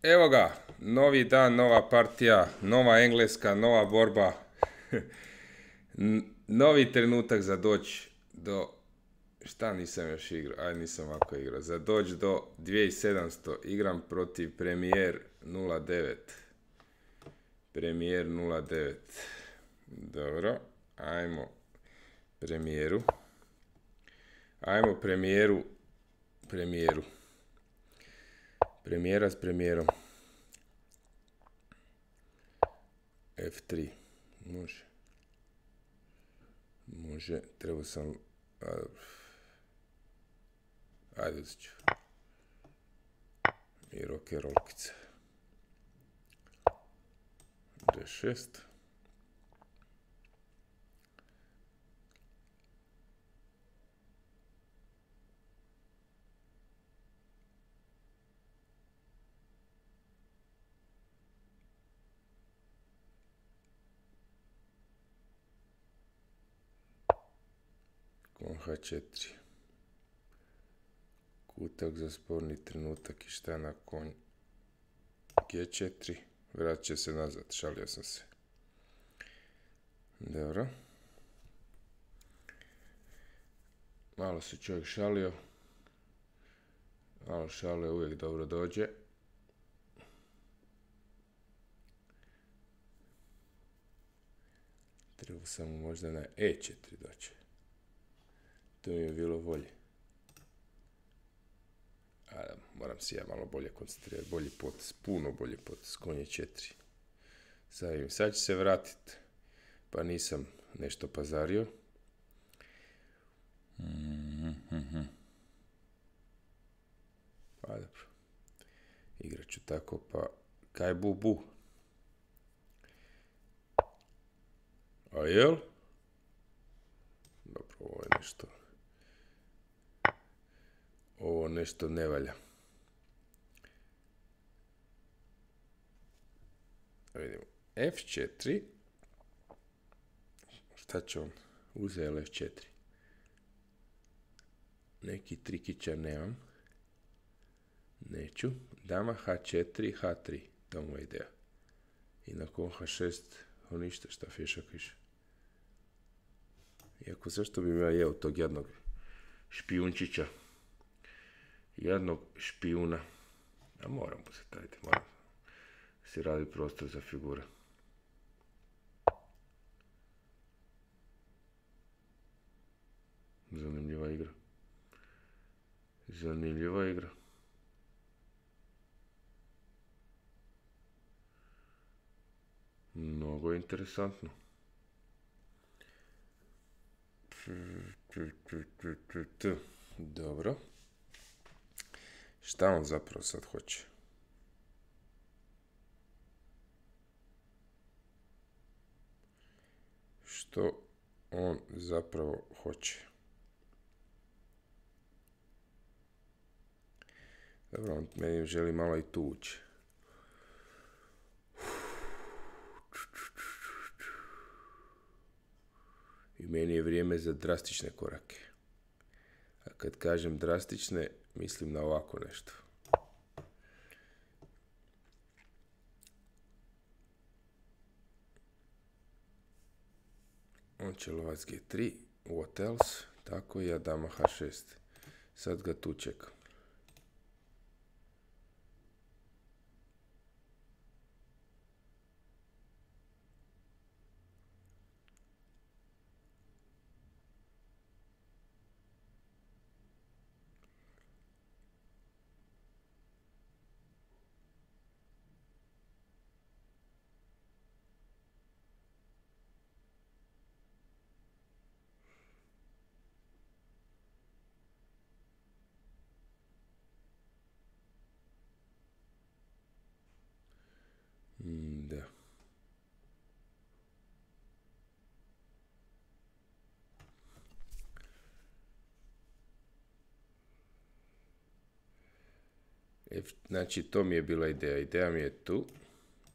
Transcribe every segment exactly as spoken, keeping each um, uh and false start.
Evo ga, novi dan, nova partija, nova engleska, nova borba. Novi trenutak za doći do... Šta nisam još igrao? Aj, nisam ovako igrao. Za doći do dvije tisuće sedamsto. Igram protiv Premier nula devet. Premier nula devet. Dobro, ajmo premijeru. Ajmo premijeru. Premijeru. Premijera s premijerom. F tri. Može. Može. Trebao sam... Ajde uzet ću. I roke rolkice. D šest. Kon H četiri. Kutak za sporni trenutak i šta na konj G četiri. Vratit će se nazad, šalio sam se. Dobro. Malo se čovjek šalio. Malo šalio uvijek dobro dođe. Treba samo možda na E četiri doći. To mi je bilo bolje. A, moram si ja malo bolje koncentrirati. Bolji potez, puno bolji potez. Konje četiri. Sad, sad će se vratiti. Pa nisam nešto pazario. Mm-hmm. Pa dobro. Igrat ću tako pa... Kaj bu bu? A jel? Dobro, ovo je nešto... Ovo nešto ne valja. Vidimo. F četiri. Šta će on? Uzeo F četiri. Neki trikića nemam. Neću. Dama H četiri, H tri. To mu je ideja. I nakon H šest, on ništa šta fješak više. Iako zašto bi ja jeo tog jednog špijunčića? Jednog špijuna. A moram posjetiti, moram si raditi prostor za figure. Zanimljiva igra. Zanimljiva igra. Mnogo interesantno. Dobro. Šta on zapravo sad hoće? Što on zapravo hoće? Dobro, on meni želi malo i tu ući. I meni je vrijeme za drastične korake. A kad kažem drastične, mislim na ovako nešto. On će lovac G tri, what else? Tako i ja dama H šest. Sad ga tu čekam. Da. F, znači, to mi je bila ideja. Ideja mi je tu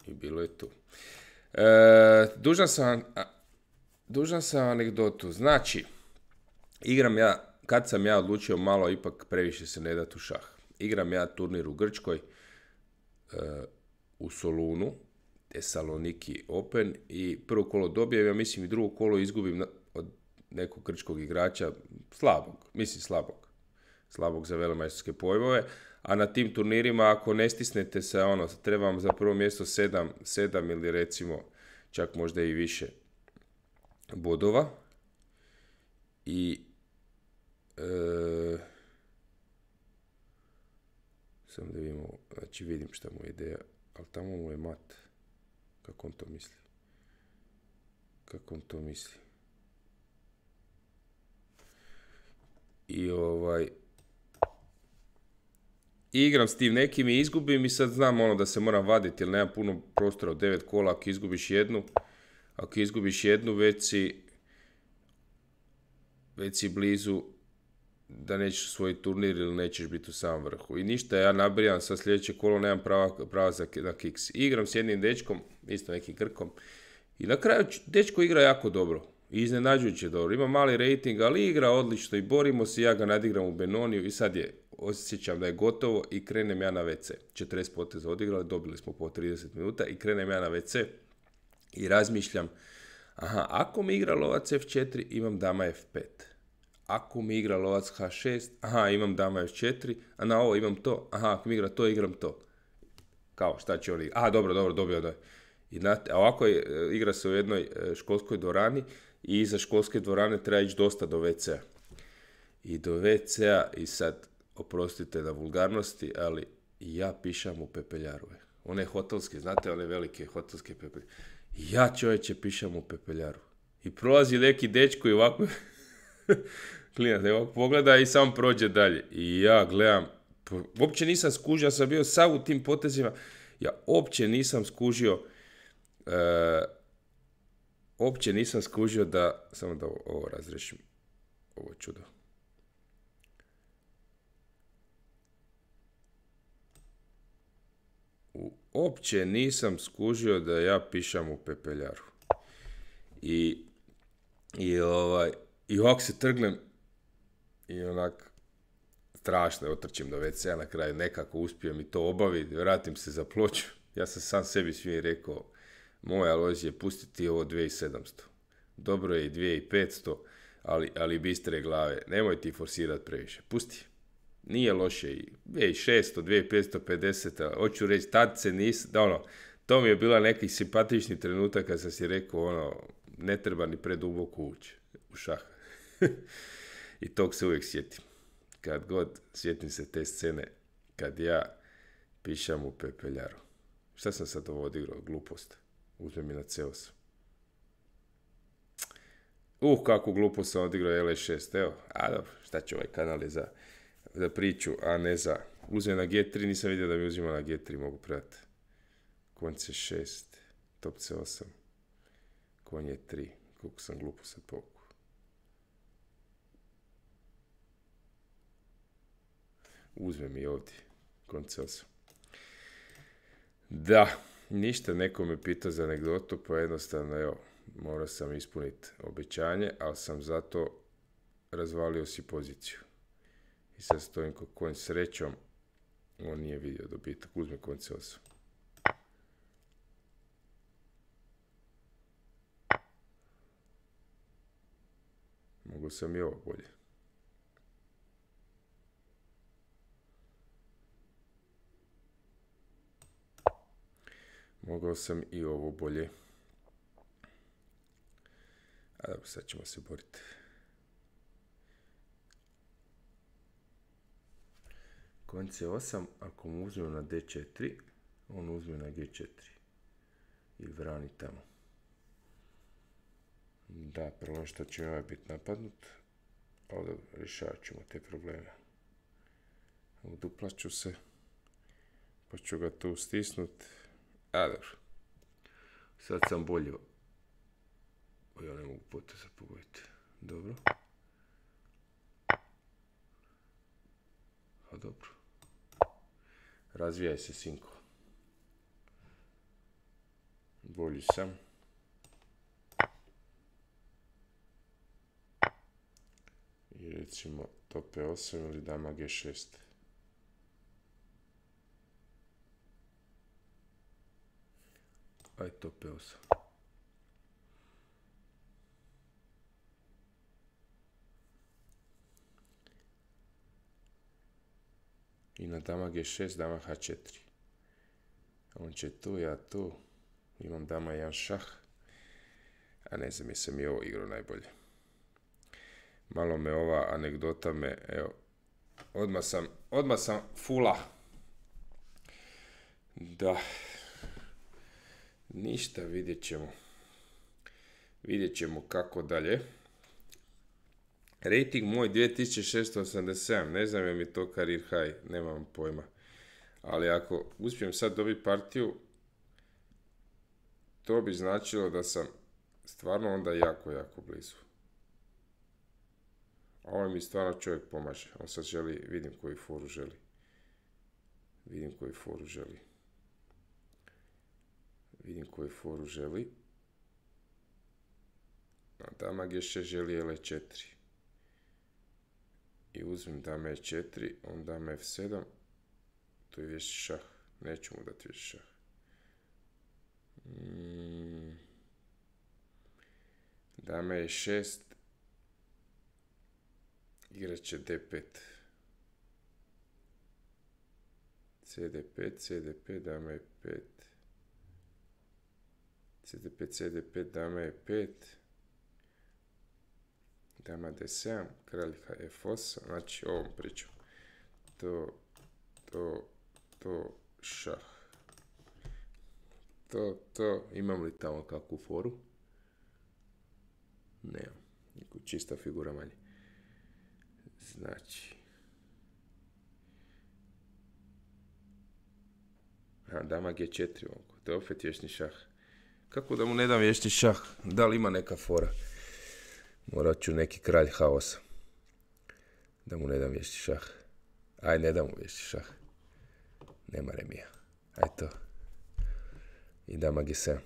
i bilo je tu. E, dužan sam, dužan sam anegdotu. Znači, igram ja, kad sam ja odlučio malo ipak previše se ne dati u šah. Igram ja turnir u Grčkoj, u Solunu, Thessaloniki Open, i prvo kolo dobijem, ja mislim i drugo kolo izgubim na, od nekog grčkog igrača, slabog, mislim slabog, slabog za velemajstorske pojmove, a na tim turnirima ako ne stisnete se, ono, treba vam za prvo mjesto sedam, sedam ili recimo čak možda i više bodova. I e, sam da vidimo, znači vidim šta mu je ideja, ali tamo mu je mat. Kako on to misli? Kako on to misli? I ovaj... I igram s tim nekim i izgubim i sad znam ono da se moram vaditi jer nema puno prostora od devet kola. Ako izgubiš jednu, ako izgubiš jednu već si, već si blizu da nećeš svoj turnir ili nećeš biti u samom vrhu. I ništa, ja nabrijam sa sljedeće kolo, nemam prava, prava za, na kiks. Igram s jednim dečkom, isto nekim Grkom, i na kraju dečko igra jako dobro. I iznenađujuće dobro. Ima mali rating, ali igra odlično i borimo se, ja ga nadigram u Benoniju i sad je, osjećam da je gotovo i krenem ja na ve ce. četrdeset poteza odigrali, dobili smo po trideset minuta i krenem ja na ve ce i razmišljam, aha, ako mi igra lovac ef četiri, imam dama ef pet. Ako mi igra lovac ha šest, aha, imam dama ef četiri, a na ovo imam to, aha, ako mi igra to, igram to. Kao, šta će on igrati? Aha, dobro, dobro, dobio da. I na, a ovako je, igra se u jednoj školskoj dvorani i iza školske dvorane treba ići dosta do ve cea. I do ve cea i sad, oprostite na vulgarnosti, ali ja pišam u pepeljaru. One hotelske, znate, one velike hotelske pepeljaru. Ja, čovječe, pišam u pepeljaru. I prolazi neki dečko i ovako klinac, ovako pogleda i sam prođe dalje. I ja gledam, uopće nisam skužio, ja sam bio sav u tim potezima, ja uopće nisam skužio, uh, uopće nisam skužio da, samo da ovo, ovo razrešim, ovo čudo. Uopće nisam skužio da ja pišem u pepeljaru. I, i, ovaj, i ovako se trgnem i onak strašno otrčim do ve cea, na kraju nekako uspijem i to obaviti, vratim se za ploču. Ja sam sam sebi svim rekao, moja Alojzije, pustiti ovo dvije tisuće sedamsto. Dobro je i dvije tisuće petsto, ali, ali bistre glave, nemoj ti forsirati previše, pusti. Nije loše i dvije tisuće šesto, dvije tisuće petsto pedeset, hoću reći, tad se nis, da ono, to mi je bila neki simpatični trenutak kad sam si rekao, ono, ne treba ni preduboko ući u šah. I tog se uvijek sjetim. Kad god sjetim se te scene, kad ja pišem u pepeljaru. Šta sam sad ovo odigrao? Glupost. Uzme mi na ce os. Uh, kakvu glupost sam odigrao el e šest, evo. A dobro, šta će ovaj kanal je za... za priču, a ne za... Uzme na ge tri, nisam vidio da mi uzima na ge tri, mogu predati. Konj ce šest, top ce osam, konj je tri, koliko sam glupo sad povuku. Uzme mi ovdje, konj ce osam. Da, ništa, neko me pitao za anegdotu, pa jednostavno, evo, morao sam ispuniti obećanje, ali sam zato razvalio si poziciju. I sad stojim kod konj srećom, on nije vidio dobitak, uzme konj ce osam. Mogu sam i ovo bolje. Mogao sam i ovo bolje. A dobro, sad ćemo se boriti. Konj ce osam, ako mu uzmem na de četiri, on uzme na ge četiri. I vrani tamo. Da, prvo što će ovaj biti napadnut, ali dobro, rješavat ćemo te probleme. Uduplaću se, pa ću ga tu stisnut. A dobro, sad sam bolje. Ja ne mogu poteza pogoditi. Dobro. A dobro. Razvijaj se, sinko. Bolji sam. I recimo top e osam ili dama ge šest. Aj to pe osam. I na dama ge šest, dama ha četiri. On će tu, ja tu. Imam dama jedan šah. A ne znam, jesam i ovo igrao najbolje. Malo me ova anegdota me, evo, odmah sam, odmah sam fula. Da. Ništa, vidjet ćemo. Vidjet ćemo kako dalje. Rating moj dvije tisuće šesto osamdeset sedam, ne znam je mi to career high, nemam pojma. Ali ako uspijem sad dobiti partiju, to bi značilo da sam stvarno onda jako, jako blizu. A ovaj mi stvarno čovjek pomaže. On sad želi, vidim koju foru želi. Vidim koju foru želi. Vidim koju foru želi. A dama ge šest želi ele četiri. I uzmem dama e četiri, on dama ef sedam. To je vješti šah. Neću mu dati vješti šah. Mm. Dama e šest. Igrat će de pet. ce de pet, ce de pet, dama e pet. ce de pet, ce de pet, dama e pet. Dama de sedam, kralj ef osam, znači ovom pričam. To, to, to, šah. To, to, imam li tamo kakvu foru? Nemam, čista figura manje. Znači. A, dama ge četiri, to je opet vješni šah. Kako da mu ne dam vješni šah? Da li ima neka fora? Morat ću neki kralj ha osam. Da mu ne dam vješti šah. Aj, ne dam mu vješti šah. Nema remija. Aj to. I dama ge sedam.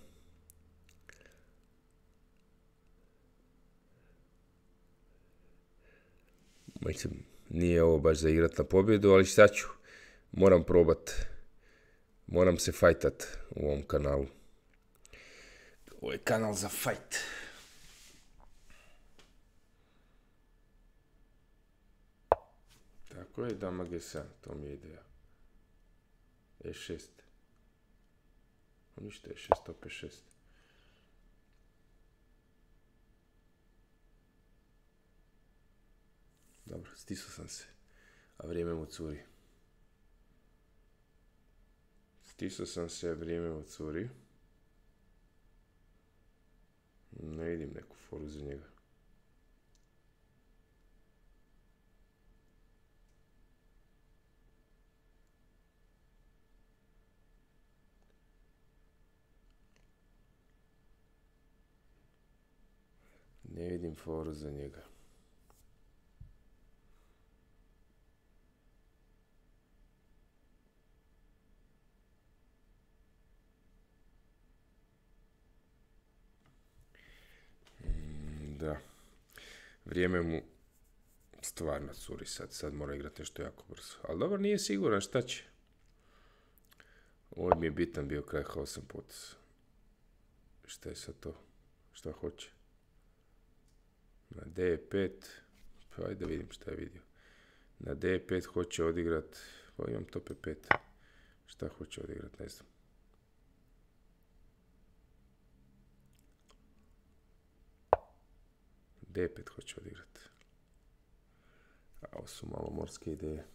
Mislim, nije ovo baš za igrat na pobjedu, ali šta ću? Moram probat. Moram se fajtat u ovom kanalu. Ovo je kanal za fajt. Tako je, dama ge sedam, to mi je ideja. e šest. Ništa, e šest, opet šest. Dobro, stisao sam se, a vrijeme mu curi. Stisao sam se, a vrijeme mu curi. Ne vidim neku foru za njega. Ne vidim foru za njega. Da, vrijeme mu stvarno curi sad, sad mora igrati nešto jako brzo. Ali dobro, nije siguran šta će. Ovo mi je bitan bio kraj ha osam potez. Šta je sad to? Šta hoće? Na de pet, pa ajde da vidim šta je vidio. Na de pet hoće odigrat, pa imam to pe pet. Šta hoće odigrat, ne znam. de pet hoće odigrat. A ovo su malo morske ideje.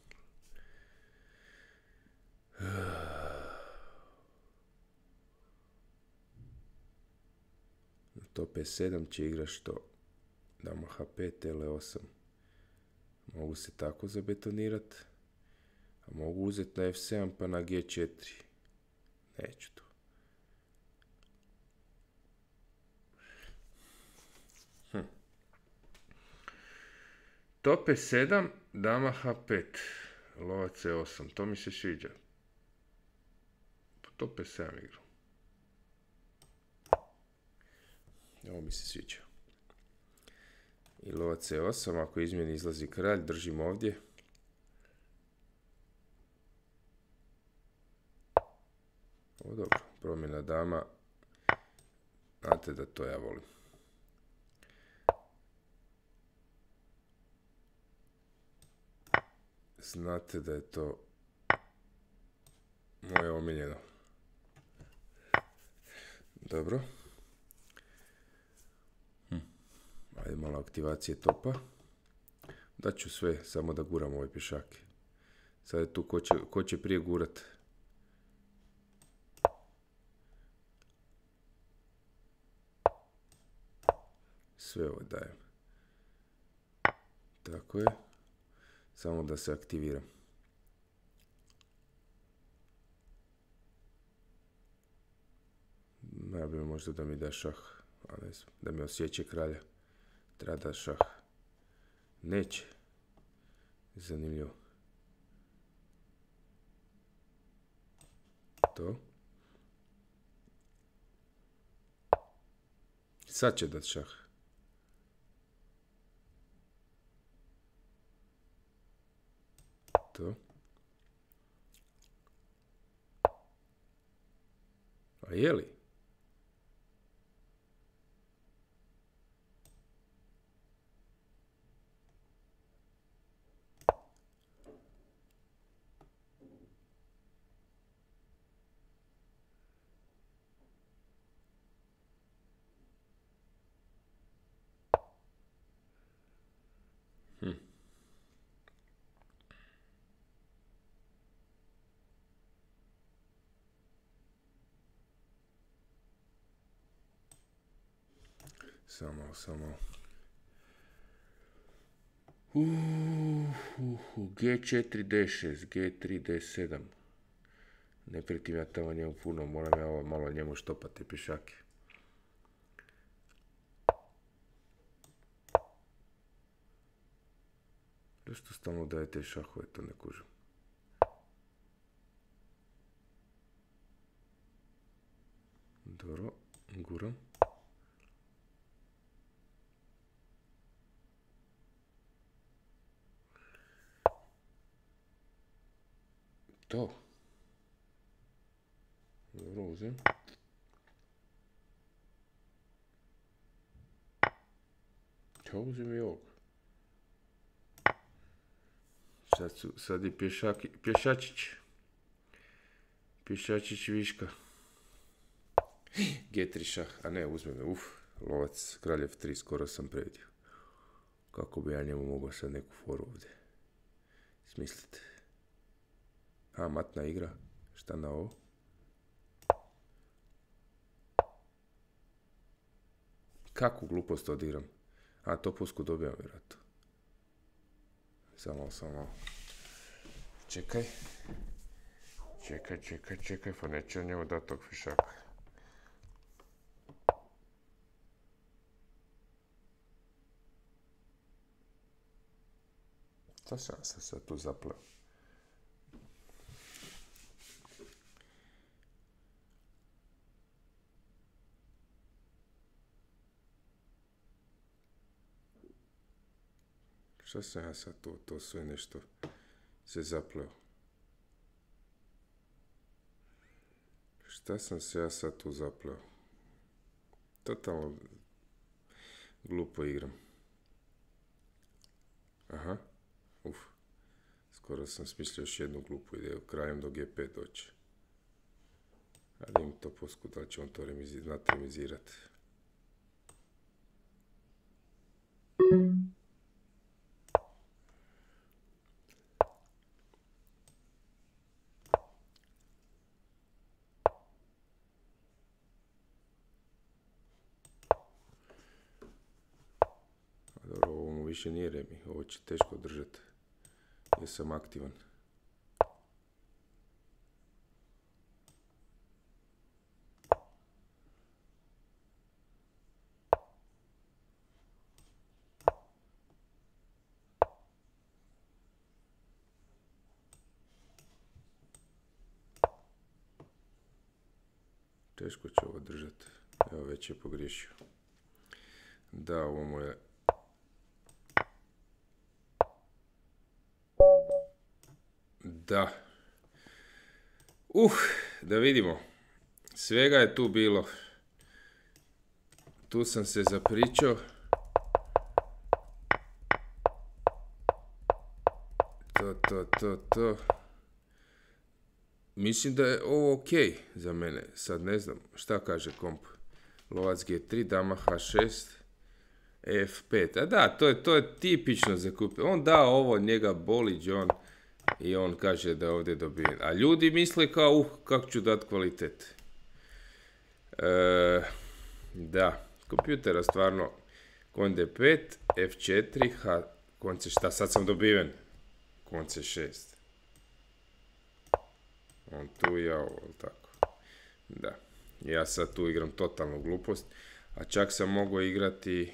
Na to pe sedam će igrat što? Dama ha pet, ele osam. Mogu se tako zabetonirat. A mogu uzeti na ef sedam pa na ge četiri. Neću to. Hm. To pe sedam, dama ha pet. Lova ce osam. To mi se sviđa. To pe sedam igru. Ovo mi se sviđa. I lova ce osam, ako izmjeni izlazi kralj, držim ovdje. Ovo dobro, promjena dama, Znate da to ja volim. Znate da je to moje omiljeno. Dobro. Hm. Ajde malo aktivacije topa. Daću sve, samo da guram ove pješake. Sad je tu ko će, ko će prije gurat. Sve ovo dajem. Tako je. Samo da se aktiviram. Ja bi možda da mi da šah, a ne znam, da mi osjeće kralja. Treba da šah. Neće. Zanimljivo. To. Sad će dat šah. To. A je li? Hm. Samo, samo. Uh, uh, uh. G četiri D šest, G tri D sedam. Ne pritim ja tamo njemu puno, moram ja ovo malo njemu štopati pješake. Zašto stalno dajete šahove, to ne kužim. Dobro, guram. To. Dobro, uzem. Ja uzem i ovog. Sad, su, sad je pješaki, pješačić. Pješačić viška. G tri šah, a ne, uzme me, uf, lovac, kralj F tri, skoro sam previdio. Kako bi ja njemu mogao sad neku foru ovdje smisliti. A, matna igra, šta na ovo? Kakvu glupost odigram? A, to pusku dobijam vjerojatno. Samo, samo. Čekaj. Čekaj, čekaj, čekaj, pa neće njemu dati tog fišaka. Šta sam se sad tu zapleo? Šta sam ja sad tu, to sve nešto se zapleo? Šta sam se ja sad tu zapleo? Totalno glupo igram. Aha, uf. Skoro sam smislio još jednu glupu ideju, krajem do G pet doći. Ali im to posku, da će on to remizi, znati remizirati. Dobro, ovo mu više nije remi, ovo će teško držati, jer sam aktivan. Teško će ovo držati, evo već je pogriješio. Da, ovo mu je... Da. Uh, da vidimo. Svega je tu bilo. tu sam se zapričao. To, to, to, to. Mislim da je ovo ok za mene. Sad ne znam šta kaže komp. Lovac G tri, dama H šest, E F pet. A da, to je, to je tipično za kupe. On da ovo, njega boli John i on kaže da je ovdje dobijen. A ljudi misle kao, uh, kako ću dat kvalitet. E, da, kompjutera stvarno kon D pet, F četiri, H, konce šta, sad sam dobiven. Konce šest. On tu i ja ovo, tako. Da. Ja sad tu igram totalnu glupost. A čak sam mogao igrati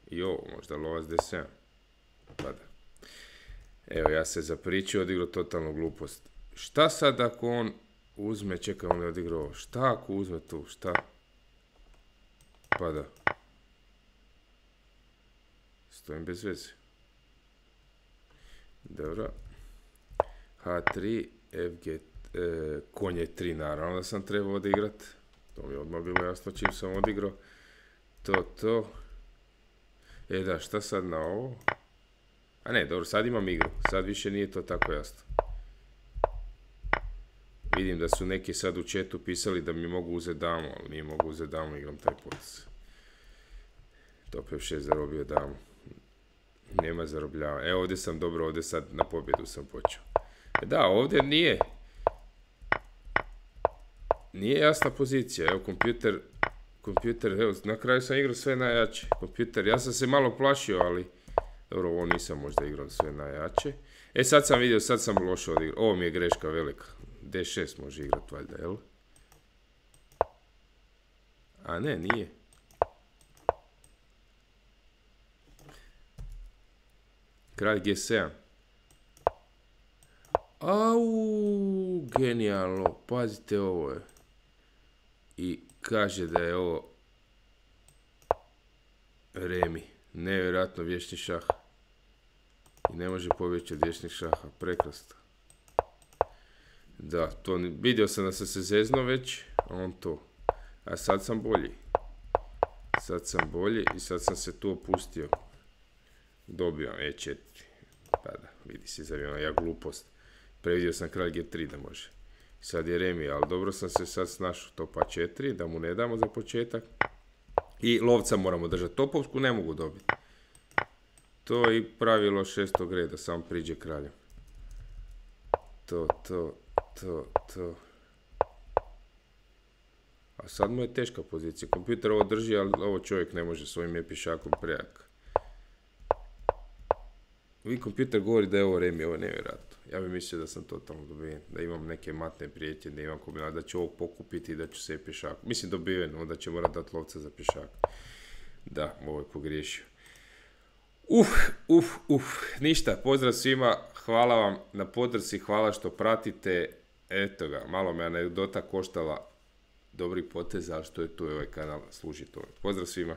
i ovo, možda lovac D sedam. Pa da. Evo, ja se zapričao, odigrao totalnu glupost. Šta sad ako on uzme, čekaj, on je odigrao ovo. Šta ako uzme tu, šta? Pa da. Stojim bez veze. Dobro. H tri, F G, e, konje tri, naravno da sam trebao odigrat. To mi je odmah bilo jasno čim sam odigrao. To, to. E da, šta sad na ovo? A ne, dobro, sad imam igru. Sad više nije to tako jasno. Vidim da su neki sad u chatu pisali da mi mogu uzeti damu, ali nije mogu uzeti damu, igram taj potez. Top F šest zarobio damu. Nema zarobljava. E, ovdje sam dobro, ovdje sad na pobjedu sam počeo. E da, ovdje nije. Nije jasna pozicija. Evo, kompjuter, kompjuter, evo, na kraju sam igrao sve najjače. Kompjuter, ja sam se malo plašio, ali dobro, ovo nisam možda igrao sve najjače. E, sad sam vidio, sad sam loše odigrao. Ovo mi je greška velika. D šest može igrati, valjda, jel? A ne, nije. Kralj G sedam. Au, genijalno, pazite ovo je. I kaže da je ovo remi. Nevjerojatno vječni šah. I ne može pobjeći od vječnih šaha, prekrasno. Da, to vidio sam da sam se zezno već, a on to. A sad sam bolji. Sad sam bolji i sad sam se tu opustio. Dobio E četiri. Pa da, vidi se zavijeno, ja glupost. Previdio sam kralj G tri da može. Sad je remi, ali dobro sam se sad snašao. Topa četiri, da mu ne damo za početak. I lovca moramo držati. Topovsku ne mogu dobiti. To je i pravilo šestog reda, samo priđe kraljem. To, to, to, to. A sad mu je teška pozicija. Kompjuter ovo drži, ali ovo čovjek ne može svojim je pišakom prejak. Vi kompjuter govori da je ovo remi, ovo je nevjerojatno. Ja bih mislio da sam totalno dobiven, da imam neke matne prijetnje, da imam kombinat, da ću ovog pokupiti i da ću se pješak. Mislim dobiven, onda će morat dati lovca za pješak. Da, ovo je pogriješio. Uf, uf, uf, ništa, pozdrav svima, hvala vam na podršci, hvala što pratite. Eto ga, malo me anegdota koštala dobrih poteza, ali što je tu ovaj kanal služi to. Pozdrav svima.